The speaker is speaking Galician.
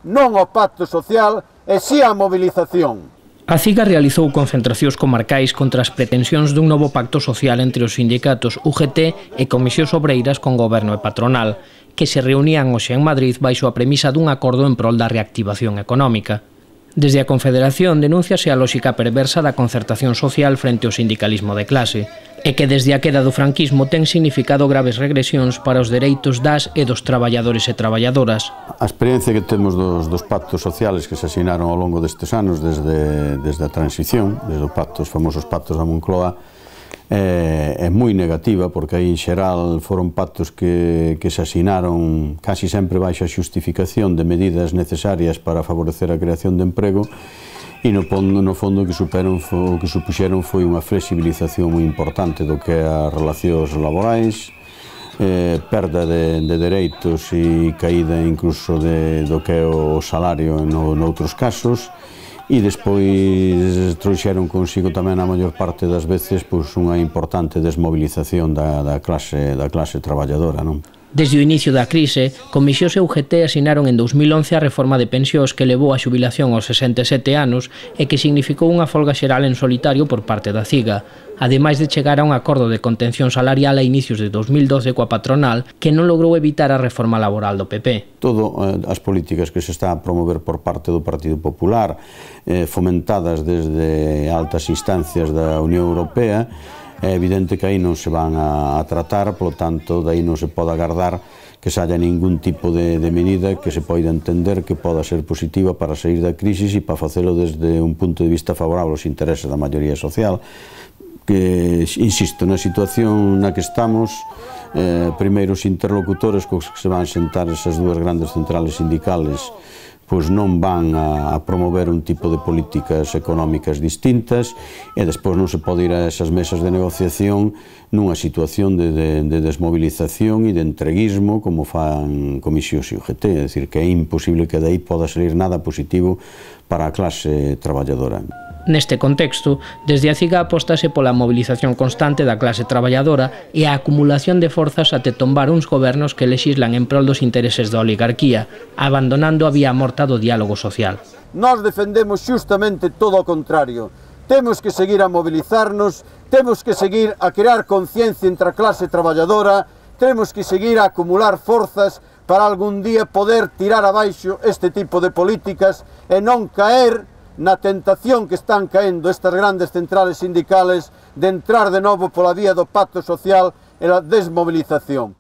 non ao pacto social e si á mobilización. A CIGA realizou concentracións comarcais contra as pretensións dun novo pacto social entre os sindicatos UGT e Comisións Obreiras con Goberno e Patronal, que se reunían hoxe en Madrid baixo a premisa dun acordo en prol da reactivación económica. Desde a Confederación denúnciase a lóxica perversa da concertación social frente ao sindicalismo de clase, e que desde a queda do franquismo ten significado graves regresións para os dereitos das e dos traballadores e traballadoras. A experiencia que temos dos pactos sociales que se asinaron ao longo destes anos desde a transición, desde os famosos pactos da Moncloa, é moi negativa, porque aí en xeral foron pactos que se asinaron casi sempre baixo a xustificación de medidas necesarias para favorecer a creación de emprego, e no fondo o que supuxeron foi unha flexibilización moi importante do que é as relacións laborais, perda de dereitos e caída incluso do que é o salario noutros casos, e despois trouxeron consigo tamén a maior parte das veces unha importante desmobilización da clase traballadora, non? Desde o inicio da crise, Comisións e UGT asinaron en 2011 a reforma de pensións que levou a xubilación aos 67 anos e que significou unha folga xeral en solitario por parte da CIGA, ademais de chegar a un acordo de contención salarial a inicios de 2012 coa patronal que non logrou evitar a reforma laboral do PP. Todas as políticas que se está a promover por parte do Partido Popular, fomentadas desde altas instancias da Unión Europea, é evidente que aí non se van a tratar, polo tanto, daí non se pode agardar que se haya ningún tipo de medida que se poida entender que poda ser positiva para sair da crise e para facelo desde un punto de vista favorable aos intereses da maioría social. Que, insisto, na situación na que estamos, primeiro os interlocutores cos que se van sentar esas dúas grandes centrales sindicales pois non van a promover un tipo de políticas económicas distintas e despois non se pode ir a esas mesas de negociación nunha situación de desmovilización e de entreguismo como fan Comisións e UGT, é dicir, que é imposible que dai poda salir nada positivo para a clase traballadora. Neste contexto, desde a CIGA apóstase pola mobilización constante da clase traballadora e a acumulación de forzas até tombar uns gobernos que lexislan en prol dos intereses da oligarquía, abandonando a vía morta do diálogo social. Nós defendemos xustamente todo o contrario. Temos que seguir a mobilizarnos, temos que seguir a crear conciencia entre a clase traballadora, temos que seguir a acumular forzas para algún día poder tirar abaixo este tipo de políticas e non caer na tentación que están caendo estas grandes centrales sindicales de entrar de novo pola vía do pacto social e a desmobilización.